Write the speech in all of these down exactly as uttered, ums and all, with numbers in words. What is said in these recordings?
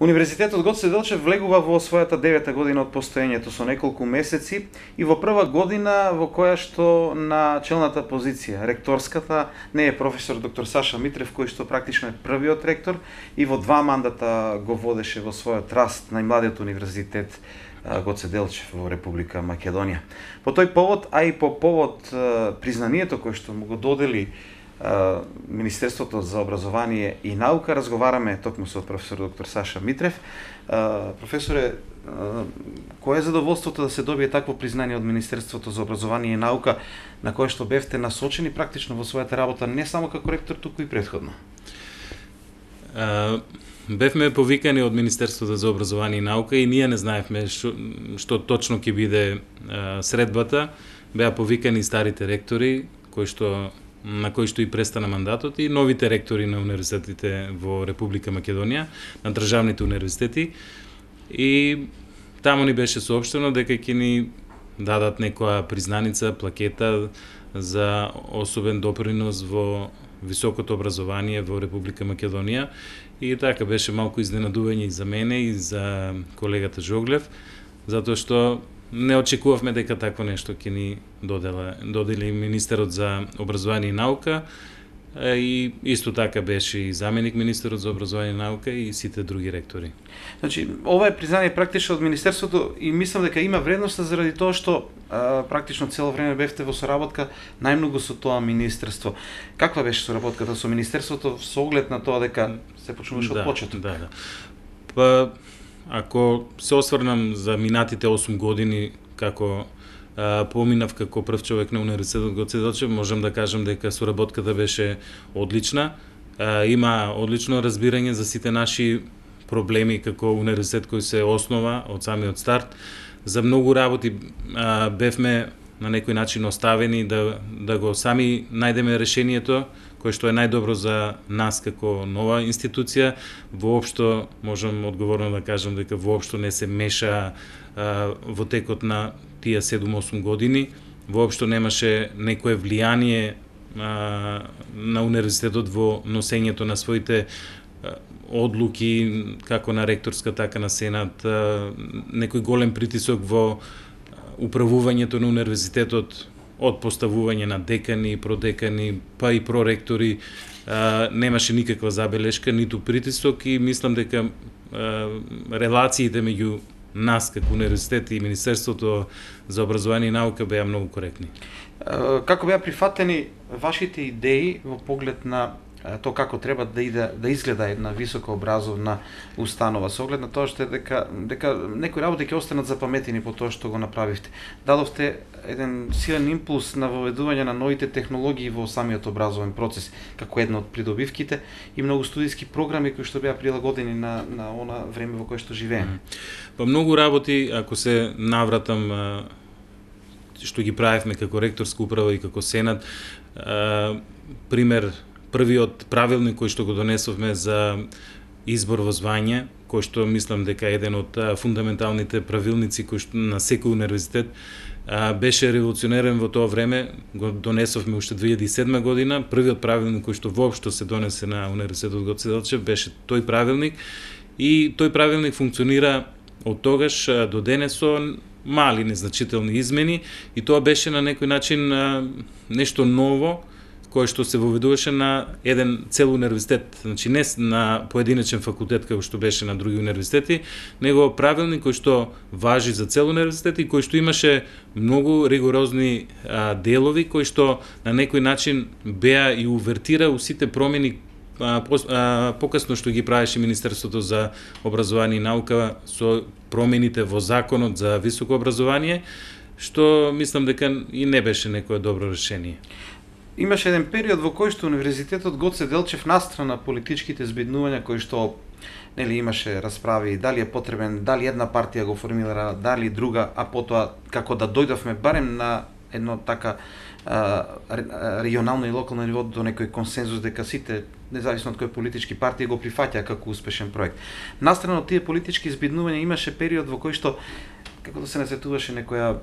Универзитетот Гоце Делчев влегува во својата девета година од постоењето со неколку месеци и во прва година во која што на челната позиција, ректорската, не е професор доктор Саша Митрев, кој што практично е првиот ректор и во два мандата го водеше во својот раст најмладиот универзитет Гоце Делчев во Република Македонија. По тој повод, а и по повод признанието кој што му го додели Министерството за образование и наука, разговараме токму со професор доктор Саша Митрев. Професоре, кое е задоволството да се добие такво признание од Министерството за образование и наука, на кое што бевте насочени практично во својата работа, не само како ректор, туку и претходно? Uh... Бевме повикани од Министерството за образование и наука и ние не знаевме што, што точно ќе биде а, средбата. Беа повикани старите ректори, кои што, на кои што и престана мандатот, и новите ректори на универзитетите во Република Македонија, на државните универзитети. И таму ни беше соопштено дека ќе ни дадат некоја признаница, плакета за особен допринос во високото образование во Република Македонија. И така беше малку изненадување и за мене и за колегата Жоглев, затоа што не очекувавме дека такво нешто ќе ни додела, додели министерот за образование и наука, и исто така беше и заменик министерот за образование и наука и сите други ректори. Значи, ова е признание практично од Министерството и мислам дека има вредност заради тоа што а, практично цело време бевте во соработка најмногу со тоа министерство. Каква беше соработката со Министерството со оглед на тоа дека се почнуваше да, од почеток? Да, да. Па, ако се осврнам за минатите осум години како поминав како прв човек на Универзитетот Гоце Делчев, можам да кажам дека соработката беше одлична. Има одлично разбирање за сите наши проблеми како универзитет кој се основа од самиот старт. За многу работи бевме на некој начин оставени да, да го сами најдеме решението кој што е најдобро за нас како нова институција. Воопшто можам одговорно да кажам дека воопшто не се меша а, во текот на тие седум-осум години. Воопшто немаше некое влијание а, на универзитетот во носењето на своите а, одлуки, како на ректорска, така на сенат, а, некој голем притисок во управувањето на универзитетот, од поставување на декани, продекани, па и проректори, а, немаше никаква забелешка, ниту притисок и мислам дека а, релациите меѓу нас како универзитет и Министерството за образование и наука беа многу коректни. Како беа прифатени вашите идеи во поглед на тоа како треба да иде да изгледа една високо образовна установа, со оглед на тоа што е дека дека некои работи ќе останат запаметени по тоа што го направивте. Дадовте еден силен импулс на воведување на новите технологии во самиот образовен процес, како една од придобивките и многу студиски програми кои што беа прилагодени на на она време во кое што живееме. Па многу работи, ако се навратам што ги правевме како ректорска управа и како сенат, пример првиот правилник кој што го донесовме за избор во звање, кој што мислам дека е еден од фундаменталните правилници кој што на секој универзитет беше револуционерен во тоа време, го донесовме уште две илјади и седма година. Првиот правилник кој што воопшто се донесе на Универзитетот Гоце Делчев беше тој правилник и тој правилник функционира од тогаш до денес со мали незначителни измени и тоа беше на некој начин нешто ново кој што се воведуваше на еден цел универзитет, значи не на поединечен факултет како што беше на други универзитети, него правилник кој што важи за цел универзитет и кој што имаше многу ригорозни а, делови кои што на некој начин беа и увертира у сите промени а, по, а, покасно што ги правеше Министерството за образование и наука со промените во законот за високо образование, што мислам дека и не беше некое добро решение. Имаше еден период во кој што Универзитетот Гоце Делчев настрана политичките збиднувања кои што нели имаше расправи дали е потребен, дали една партија го формира, дали друга, а потоа како да дојдовме барем на едно така а, регионално и локално ниво до некој консензус дека сите независно од кој политички партии го прифаќаа како успешен проект. Настрана од тие политички збиднувања имаше период во кој што како да се насетуваше некоја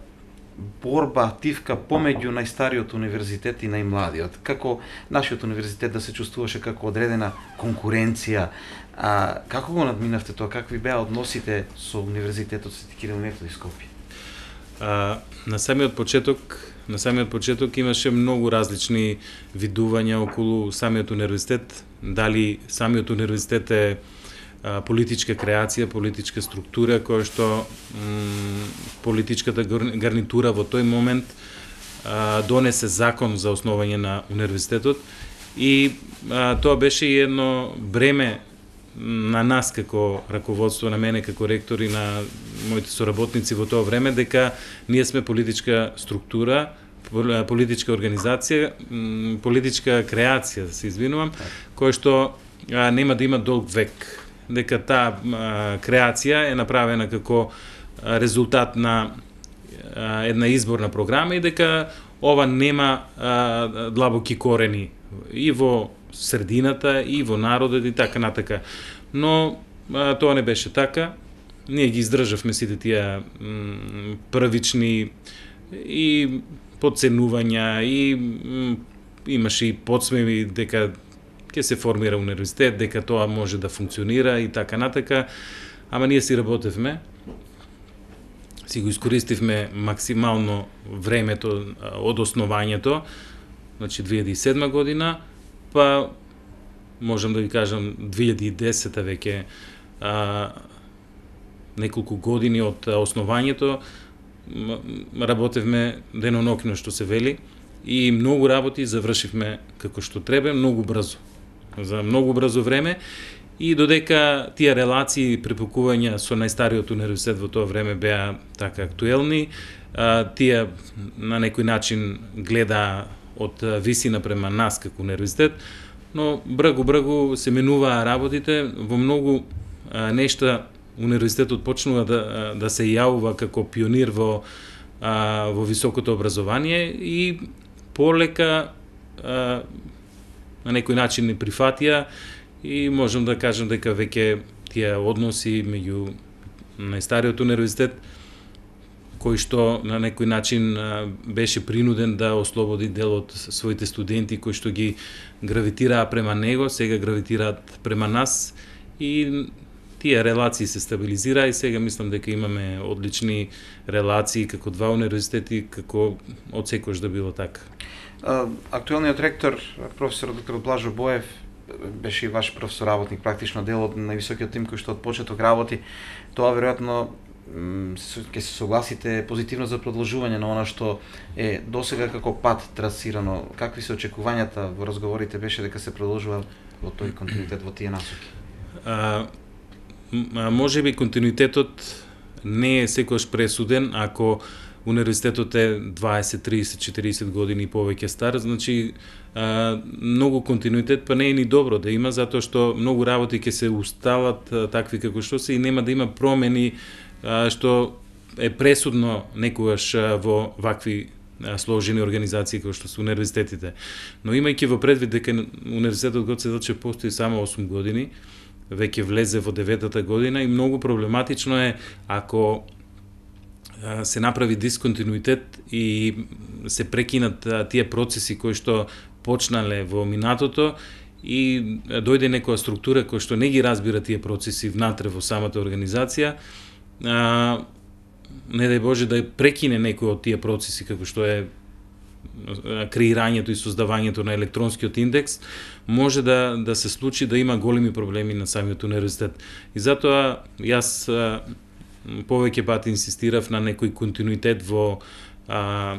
борба, тивка помеѓу најстариот универзитет и најмладиот? Како нашиот универзитет да се чувствуваше како одредена конкуренција? А како го надминавте тоа? Какви беа односите со универзитетот Свети Кирил и Методи Скопје? А, на самиот почеток, на самиот почеток имаше многу различни видувања околу самиот универзитет. Дали самиот универзитет е а, политичка креација, политичка структура, која што м, политичката гарнитура во тој момент а, донесе закон за основање на универзитетот и а, тоа беше едно бреме на нас како раководство, на мене како ректор и на моите соработници во тоа време, дека ние сме политичка структура, политичка организација, политичка креација, да се извинувам, која што а, нема да има долг век. Дека таа а, креација е направена како а, резултат на а, една изборна програма и дека ова нема а, длабоки корени и во средината, и во народот и така натака. Но а, тоа не беше така. Ние ги издржавме сите тие м, првични и подценувања и м, имаше и подсмеви дека ќе се формира универзитет, дека тоа може да функционира и така натака. Ама ние си работевме, си го искористивме максимално времето од основањето, значи две илјади и седма година, па можам да ви кажам две илјади и десета веќе а, неколку години од основањето работевме денонокно, што се вели, и многу работи завршивме како што треба, многу брзо, за многу брзо време, и додека тие релации и препукувања со најстариот универзитет во тоа време беа така актуелни, а, тие на некој начин гледа од висина према нас како универзитет, но брагу-брагу се менуваа работите, во многу а, нешта универзитетот почнува да, да се јавува како пионир во, а, во високото образование и полека а, на некој начин не прифатија и можам да кажам дека веќе тие односи меѓу најстариот универзитет, кој што на некој начин а, беше принуден да ослободи дел од своите студенти кои што ги гравитираа према него, сега гравитираат према нас и тие релации се стабилизираа и сега мислам дека имаме одлични релации како два универзитети, како од секојаш да било така. Актуелниот ректор, професор доктор Блажо Боев, беше и ваш професор работник, практично дел од највисокиот тим кој што од почеток работи. Тоа веројатно ќе се согласите позитивно за продолжување на она што е досега како пат трасирано. Какви се очекувањата во разговорите беше дека се продолжува во тој континуитет, во тие насоки? А, може би континуитетот не е секогаш пресуден ако универзитетот е дваесет, тридесет, четириесет години и повеќе стар, значи а, многу континуитет па не е ни добро да има, затоа што многу работи ќе се усталат а, такви како што се и нема да има промени а, што е пресудно некогаш а, во вакви а, сложени организации како што се универзитетите. Но имајќи во предвид дека универзитетот Гоце Делчев постои само осум години, веќе влезе во деветата година и многу проблематично е ако се направи дисконтинуитет и се прекинат тие процеси кои што почнале во минатото и дојде некоја структура која што не ги разбира тие процеси внатре во самата организација, а, не дај Боже да прекине некој од тие процеси како што е креирањето и создавањето на електронскиот индекс, може да да се случи да има големи проблеми на самиот универзитет. И затоа јас а, повеќе пати инсистирав на некој континуитет во а,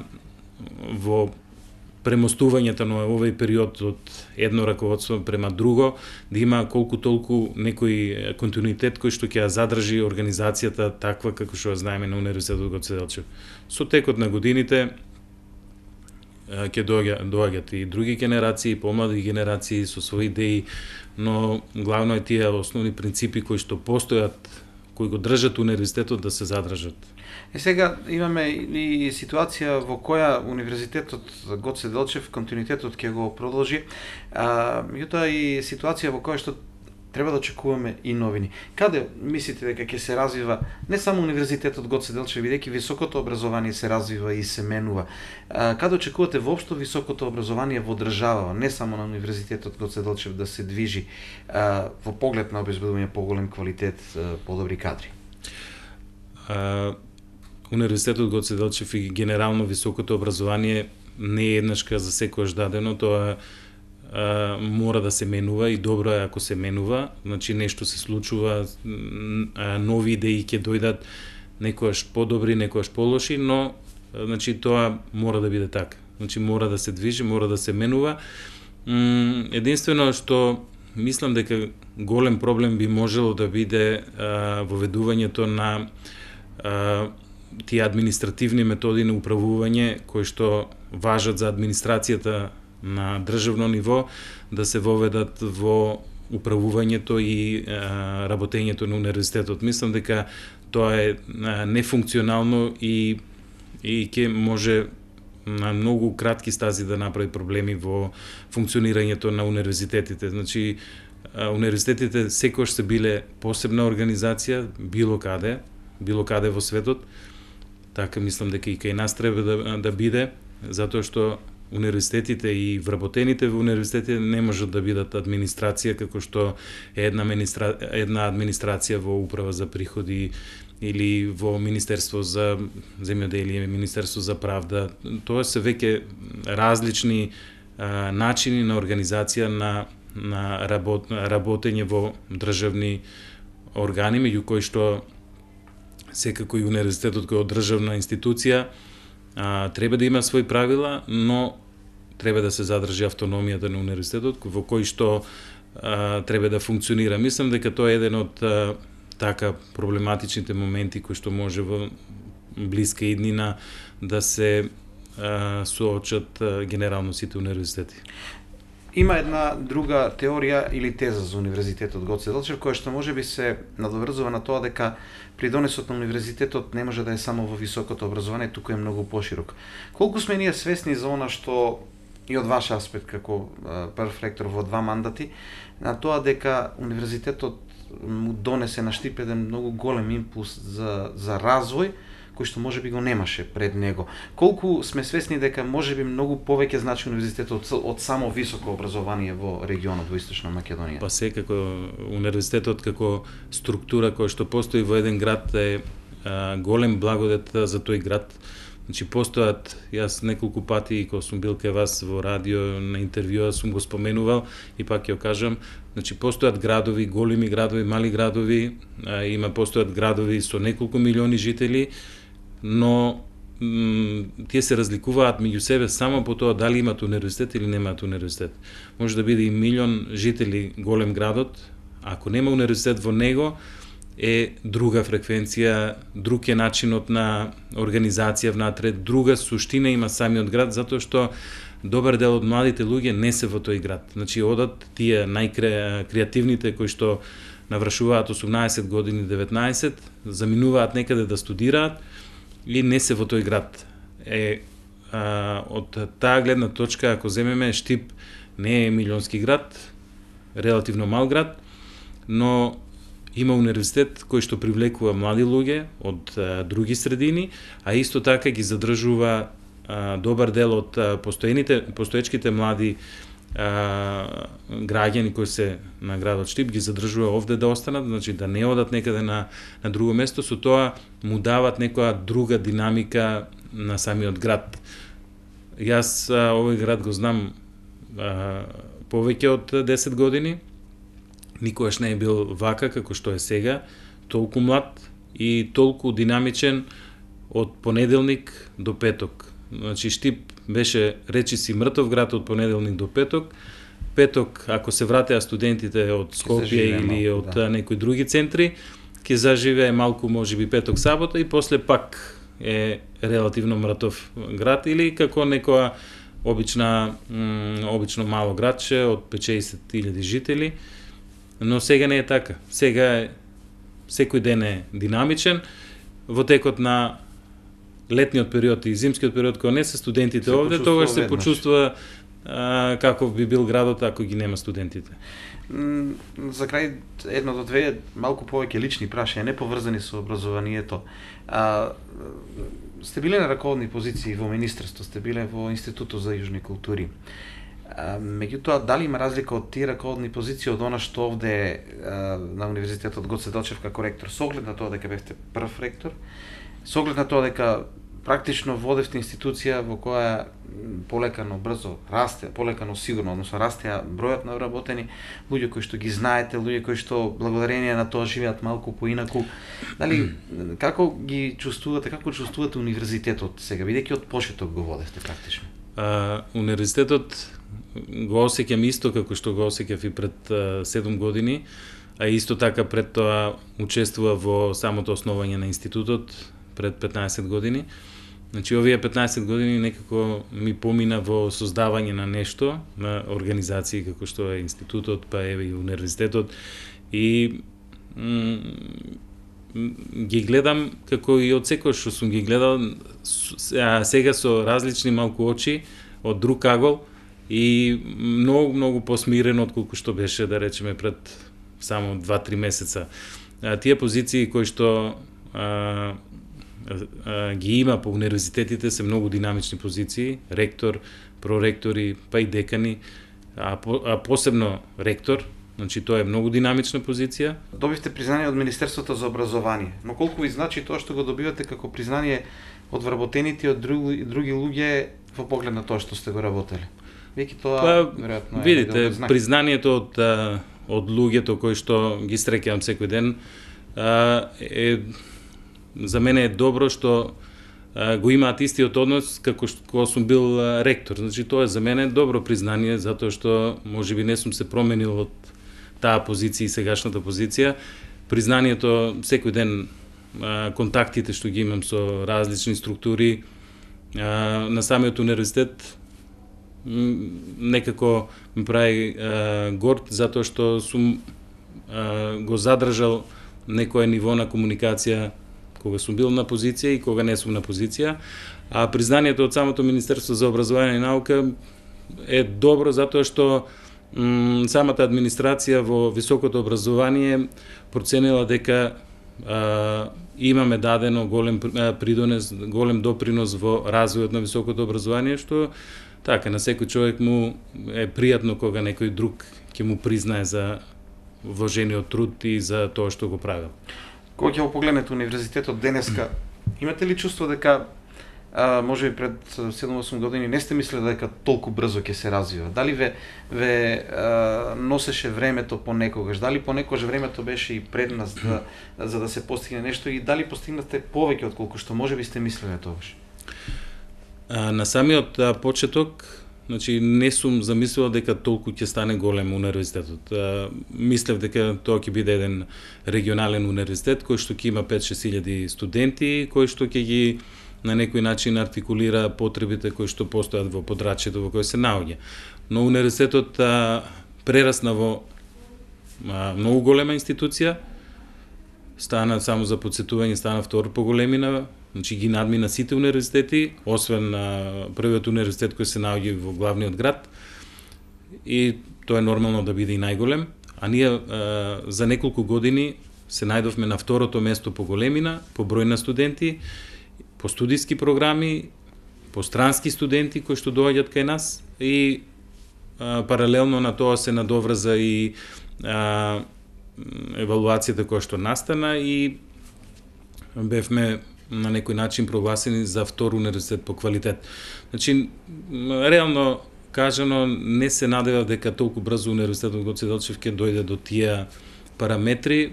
во премостувањето на овој период од едно раководство према друго, да има колку толку некој континуитет кој што ќе ја задржи организацијата таква како што ја знаеме на Универзитетот Гоце Делчев. Со текот на годините ќе доаѓаат и други генерации, помлади генерации со своји идеи, но главно е тие основни принципи кои што постојат, кои го држат универзитетот да се задржат. Е сега имаме и ситуација во која универзитетот Гоце Делчев континуитетот ќе го продолжи, а меѓутоа и ситуација во која што треба да очекуваме и новини. Каде мислите дека ќе се развива не само Универзитетот Гоце Делчев, бидејќи високото образование се развива и се менува. Каде очекувате воопшто високото образование во држава, не само на Универзитетот Гоце Делчев да се движи а, во поглед на обезбедување поголем квалитет, а, подобри кадри? А, Универзитетот Гоце Делчев и генерално високото образование не е еднашка за секојаш дадено, тоа а, мора да се менува и добро е ако се менува, значи нешто се случува, а, нови идеи ќе дојдат, некојаш подобри, некојаш полоши, но значи тоа мора да биде така. Значи мора да се движи, мора да се менува. М, единствено што мислам дека голем проблем би можело да биде а, воведувањето на а, тие административни методи на управување кои што важат за администрацијата на државно ниво, да се воведат во управувањето и а, работењето на универзитетот. Мислам дека тоа е а, нефункционално и и ќе може на многу кратки стази да направи проблеми во функционирањето на универзитетите. Значи, а, универзитетите секогаш се биле посебна организација, било каде, било каде во светот. Така мислам дека и кај нас треба да, да биде, затоа што универзитетите и вработените во универзитетите не можат да бидат администрација како што е една, администра... една администрација во управа за приходи или во Министерство за земјоделие, Министерство за правда. Тоа се веќе различни а, начини на организација на, на работ... работење во државни органи, меѓу кои што секако и универзитетот кој е државна институција а, треба да има своји правила, но треба да се задржи автономијата на универзитетот во кој што а, треба да функционира. Мислам дека тоа е еден од а, така проблематичните моменти кои што може во блиска иднина да се а, соочат а, генерално сите универзитети. Има една друга теорија или теза за Универзитетот Гоце Делчев, која што можеби се надоврзува на тоа дека придонесот на универзитетот не може да е само во високото образование, туку е многу поширок. Колку сме ние свесни за она што и од ваш аспект како прв ректор во два мандати, на тоа дека универзитетот му донесе на Штип еден многу голем импулс за, за развој, кој што можеби го немаше пред него. Колку сме свесни дека можеби многу повеќе значи универзитетот од, од само високо образование во регионот во Источна Македонија? Па секако универзитетот како структура која што постои во еден град е а, голем благодет за тој град. Значи постојат, јас неколку пати кога сум бил кај вас во радио на интервјуа сум го споменувал и пак ќе кажам, значи постојат градови, големи градови, мали градови, а, има постојат градови со неколку милиони жители, но тие се разликуваат меѓу себе само по тоа дали имаат универзитет или немаат универзитет. Може да биде и милион жители голем градот, ако нема универзитет во него, е друга фреквенција, друг е начинот на организација внатре, друга суштина има самиот град, затоа што добар дел од младите луѓе не се во тој град. Значи одат тие најкреативните кои што навршуваат осумнаесет години, деветнаесет, заминуваат некаде да студираат и не се во тој град. Е, а, од таа гледна точка, ако земеме, Штип не е милионски град, релативно мал град, но има универзитет кој што привлекува млади луѓе од а, други средини, а исто така ги задржува а, добар дел од а, постоените, постоечките млади а, граѓани кои се на градот Штип, ги задржува овде да останат, значи да не одат некаде на, на друго место, со тоа му дават некоја друга динамика на самиот град. Јас а, овој град го знам а, повеќе од десет години, никогаш не е бил вака како што е сега, толку млад и толку динамичен од понеделник до петок. Значи Штип беше речиси мртов град од понеделник до петок. Петок, ако се вратеа студентите од Скопје или од да. некои други центри, ќе заживее малку можеби петок сабота и после пак е релативно мртов град или како некоја обична обично мало градче од петчесет илјади жители. Но сега не е така. Сега е, секој ден е динамичен. Во текот на летниот период и зимскиот период, кога не се студентите се овде, тогаш се почувствува а, каков би бил градот ако ги нема студентите. За крај едно до две малку повеќе лични прашања, не поврзани со образованието. А, сте биле на раководни позиции во министерство, сте биле во Институтот за јужни култури. А, меѓутоа, дали има разлика од тие раководни позиции од она што овде а, на Универзитетот Гоце Делчев како ректор, со оглед на тоа дека бевте прв ректор, со оглед на тоа дека практично водевте институција во која полекано брзо расте, полекано сигурно, односно расте бројот на вработени луѓе кои што ги знаете, луѓе кои што благодарение на тоа живеат малку поинаку. Дали како ги чувствувате, како чувствувате универзитетот сега, бидејќи од почеток го водевте практично? А, универзитетот го осеќам исто како што го осеќав и пред а, седум години, а исто така пред тоа учествува во самото основање на институтот пред петнаесет години. Значи, овие петнаесет години некако ми помина во создавање на нешто, на организации како што е институтот, па еве и универзитетот, и ги гледам како и од секој што сум ги гледал сега со различни малку очи, од друг агол и многу, многу посмирено отколку што беше, да речеме, пред само два-три месеца. А, тие позиции кои што а, ги има по универзитетите се многу динамични позиции, ректор, проректори, па и декани, а, по, а посебно ректор, значи тоа е многу динамична позиција. Добивте признание од Министерството за образование, но колку ви значи тоа што го добивате како признание од вработените од други, други луѓе во поглед на тоа што сте го работеле? Веќе тоа, па, веројатно е видите, признанието од, од луѓето кои што ги среќавам секој ден е, за мене е добро што а, го имаат истиот однос како што кога сум бил а, ректор. Значи тоа е за мене добро признание затоа што можеби не сум се променил од таа позиција и сегашната позиција. Признанието секој ден, а, контактите што ги имам со различни структури а, на самиот универзитет некако ме прави а, горд затоа што сум а, го задржал некое ниво на комуникација кога сум бил на позиција и кога не сум на позиција, а признанието од самото Министерство за образование и наука е добро затоа што м, самата администрација во високото образование проценила дека а, имаме дадено голем придонес, голем допринос во развојот на високото образование, што така на секој човек му е пријатно кога некој друг ќе му признае за вложениот труд и за тоа што го правил. Кога ќе го погледнете универзитетот денеска, имате ли чувство дека а, може би пред седум-осум години не сте мислели дека толку брзо ќе се развива? Дали ве, ве а, носеше времето понекогаш? Дали понекогаш времето беше и пред нас да, за да се постигне нешто и дали постигнате повеќе отколку што може би сте мислеле тогаш? А, на самиот а, почеток, значи не сум замислил дека толку ќе стане голем универзитетот. А, мислев дека тоа ќе биде еден регионален универзитет кој што ќе има пет-шест илјади студенти, кој што ќе ги на некој начин артикулира потребите кои што постојат во подрачјето во кој се наоѓа. Но универзитетот а, прерасна во а, многу голема институција, стана само за подсетување, стана втор по големина, значи ги надмина сите универзитети, освен а, првиот универзитет кој се наоѓа во главниот град, и тоа е нормално да биде и најголем, а ние а, за неколку години се најдовме на второто место по големина, по број на студенти, по студиски програми, по странски студенти кои што доаѓаат кај нас, и а, паралелно на тоа се надоврза и а, евалуацијата која што настана и бевме на некој начин прогласени за втор универзитет по квалитет. Значи, реално кажано, не се надевав дека толку брзо универзитетот Гоце Делчев ќе дојде до тие параметри.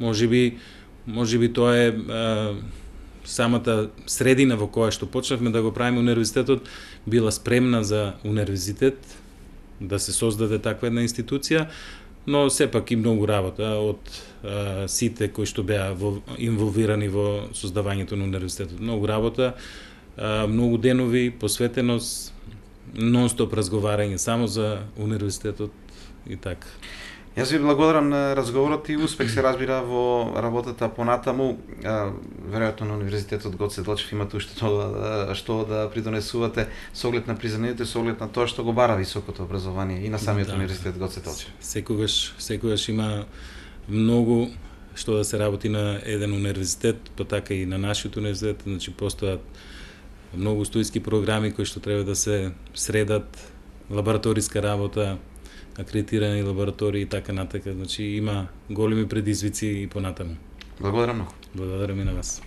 Можеби, можеби тоа е а, самата средина во која што почнавме да го правиме универзитетот била спремна за универзитет, да се создаде таква една институција, но сепак и многу работа од а, сите кои што беа во, инволвирани во создавањето на универзитетот. Многу работа, а, многу денови, посветеност, нон-стоп разговарање само за универзитетот и така. Јас ви благодарам на разговорот и успех се разбира во работата понатаму. Веројатно на Универзитетот Гоце Делчев имате уште тоа што да придонесувате со оглед на признанието и со оглед на тоа што го бара високото образование и на самиот да, Универзитет Гоце Делчев. Секогаш, секогаш има многу што да се работи на еден универзитет, па така и на нашиот универзитет, значи постојат многу студиски програми кои што треба да се средат, лабораториска работа, акредитирани лаборатории и така натака, значи има големи предизвици и понатаму. Благодарам многу. Благодарам и на вас.